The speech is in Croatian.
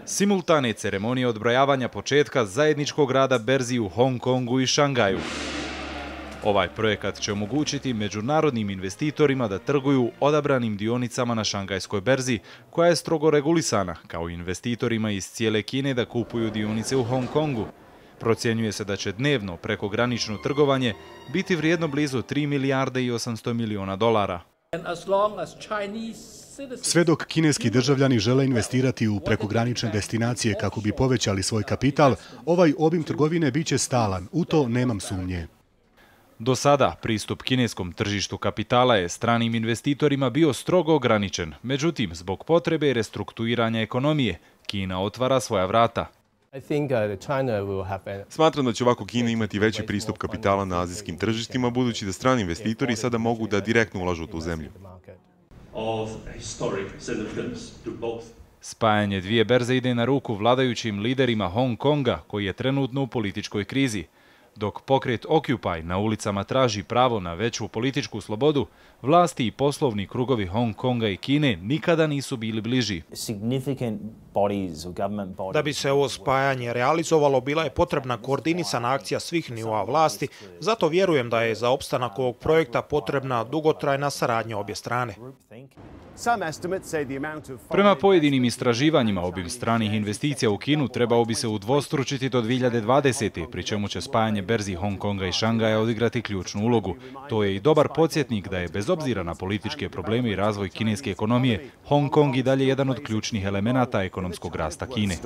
Simultane ceremonije odbrojavanja početka zajedničkog rada berzi u Hong Kongu i Šangaju. Ovaj projekat će omogućiti međunarodnim investitorima da trguju odabranim dionicama na šangajskoj berzi, koja je strogo regulisana, kao i investitorima iz cijele Kine da kupuju dionice u Hong Kongu. Procjenjuje se da će dnevno prekogranično trgovanje biti vrijedno blizu 3 milijarde i 800 miliona dolara. Sve dok kineski državljani žele investirati u prekogranične destinacije kako bi povećali svoj kapital, ovaj obim trgovine biće stalan, u to nemam sumnje. Do sada pristup kineskom tržištu kapitala je stranim investitorima bio strogo ograničen, međutim, zbog potrebe restrukturiranja ekonomije, Kina otvara svoja vrata. Smatram da će ovako Kina imati veći pristup kapitala na azijskim tržištima, budući da strani investitori sada mogu da direktno ulažu u tu zemlju. Spajanje dvije berze ide na ruku vladajućim liderima Hong Konga, koji je trenutno u političkoj krizi. Dok pokret Occupy na ulicama traži pravo na veću političku slobodu, vlasti i poslovni krugovi Hong Konga i Kine nikada nisu bili bliži. Da bi se ovo spajanje realizovalo, bila je potrebna koordinisana akcija svih nivoa vlasti, zato vjerujem da je za opstanak ovog projekta potrebna dugotrajna saradnja obje strane. Prema pojedinim istraživanjima, obim stranih investicija u Kinu trebao bi se udvostručiti do 2020. pri čemu će spajanje berzi Hong Konga i Šangaja odigrati ključnu ulogu. To je i dobar podsjetnik da je, bez obzira na političke probleme i razvoj kineske ekonomije, Hong Kong i dalje jedan od ključnih elemenata ekonomskog rasta Kine.